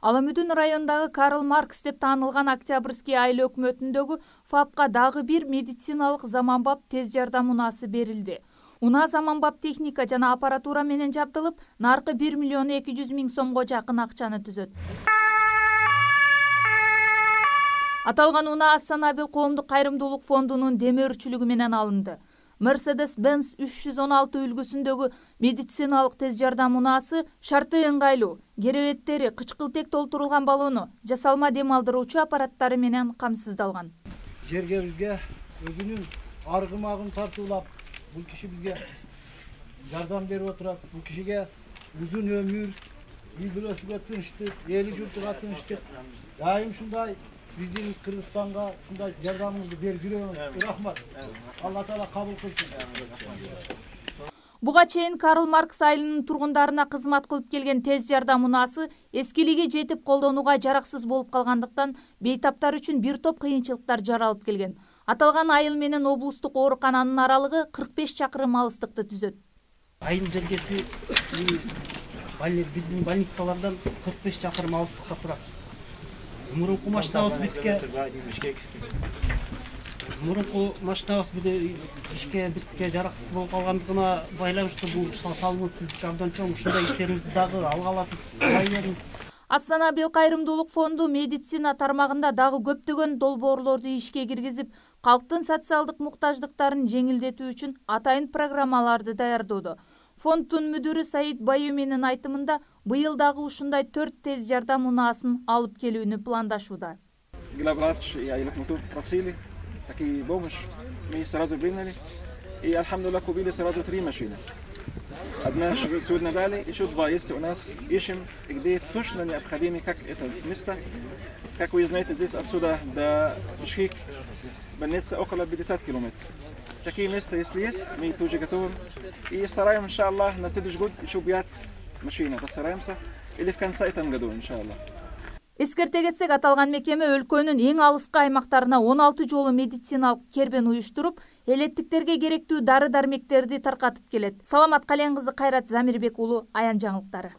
Аламүдүн районундагы Карл Маркс деп таанылган Октябрьский айыл өкмөтүндөгү ФАПка дагы бир медициналык заманбап тез жардам унаасы берилди. Унаа заманбап техника жана аппаратура менен жабдылып, наркы 1 миллион 200 миң сомго жакын акчаны түзөт. Аталган унаа Ас-Санабил коомдук кайрымдуулук фондунун демөөрчүлүгү менен алынды. Mercedes-Benz 316 үлгүсүндөгү медициналык тез жардам унаасы шарты ыңгайлуу, керебеттери, кычкылтек толтурулган баллону, жасалма дем алдыруучу аппараттары менен камсыздалган. Жерге бизге өзүнүн аргымагын тартуулап, бул киши бизге жардам берип отурат. Бул кишиге узун өмүр, үй бүлөсүгө тынчтык, эли журтуга тынчтык. Дайым ушундай биздин Кыргызстанга ушундай жардамыңызды берип жүрөңүз. Рахмат. Алла Таала кабыл кылсын. Буга чейин Карл Маркс айылынын тургундарына кызмат кылып келген тез жардам унаасы эскилиге жетип колдонууга жараксыз болуп калгандыктан бейтаптар үчүн бир топ кыйынчылыктар жаралып келген. Аталган айыл менен облустук оорукананын аралыгы 45 чакырым алыстыкты түзөт. Айыл жергеси биздин больницалардан 45 чакырым алыстыкта турат. Мурунку машинабыз ишке битке жараксыз болуп калгандыгына байланыштуу бул салымыбыз сиздики абдан чоң. Ушундай иштерибизди дагы алгалатып кылай бериңиз. Ас-Санабил кайрымдуулук фонду медицина тармагында дагы көптөгөн долбоорлорду ишке киргизип, калктын социалдык муктаждыктарын жеңилдетүү үчүн атайын программаларды даярдоодо. Фонддун мүдүрү Саид Баюминин айтымында, быйыл дагы ушундай 4 тез жардам унаасын алып келүүнү пландашууда. Такие помощь мы сразу приняли, и альхамдулилlah купили сразу 3 машины. Одна сегодня дали, еще 2 есть у нас. Ищем, где точно необходимо, как это место. Как вы знаете, здесь отсюда до Бишкек больницы около 50 километров. Такие места, если есть, мы тоже готовы. И стараемся, иншаллах, на следующий год еще 5 машин. Постараемся, или в конце этого года, иншаллах. Эскерте кетсек, аталган мекеме өлкөнүн эң алыскы аймактарына 16 жолу медициналык кербен уюштуруп, элеттиктерге керектүү дары-дармектерди таркатып келет. Саламат Кален кызы, Кайрат Замирбек уулу, Аян жаңылыктары.